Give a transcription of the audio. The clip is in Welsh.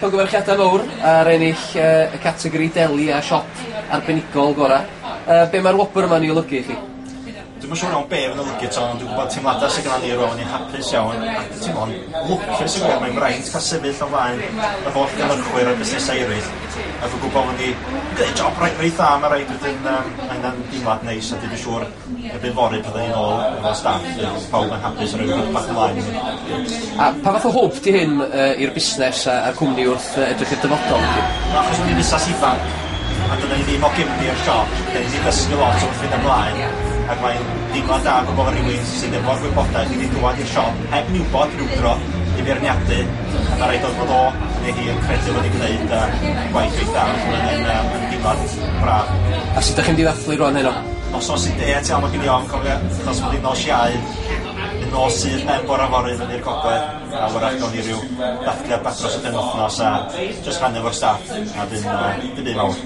Llongyfarchiadau mowr ar ennill y categori deli a siop arbenigol gora. Be' ma'r wobr yma'n 'i olygu i chi? Dwi'm yn siŵr iawn be' fydd yn olygu 'to ond dwi'n gwybod teimlada sy gynnon ni rŵan ni'n hapus iawn a teimlo'n lwcus i gwir mae'n fraint ca'l sefyll o flaen yr holl gynhyrchwyr a busnesau eraill a dwi'n gwybod bod ni gneud job reit reit dda ma' raid wedyn yym ma' hynna'n deimlad neis a dwi siŵr erbyn fory pan 'dan ni nôl efo staff fydd pawb yn hapus a roi hwb bach ymlaen i ni. A pa fath o hwb 'di hyn yy i'r busnes a a'r cwmni wrth yy edrych i'r dyfodol felly? Wel achos bod ni'n busnas ifanc a dydan ni ddim o gefndir siop 'dan ni 'di dysgu lot wrth fynd ymlaen ac mae'n deimlad da gwbo fo' rywun sydd efo'r gwybodaeth wedi dŵad i'r siop heb ni wbod rywdro i feirniadu a ma' raid oedd fod o neu hi yn credu fod 'di gneud yy gwaith reit dda felly ma' hynny'n yy yn deimlad braf. A sut 'dach chi'n mynd i ddathlu rŵan heno? Noson sy'n dêt iawn ma' gen i ofn cofia achos bod hi'n nos Iau, fydd nos Sul ben bora fory fyny'r gogledd a wrach gawn ni ryw ddathliad bach dros y penwthnos a jyst rhannu efo'r staff a dim dim byd mawr.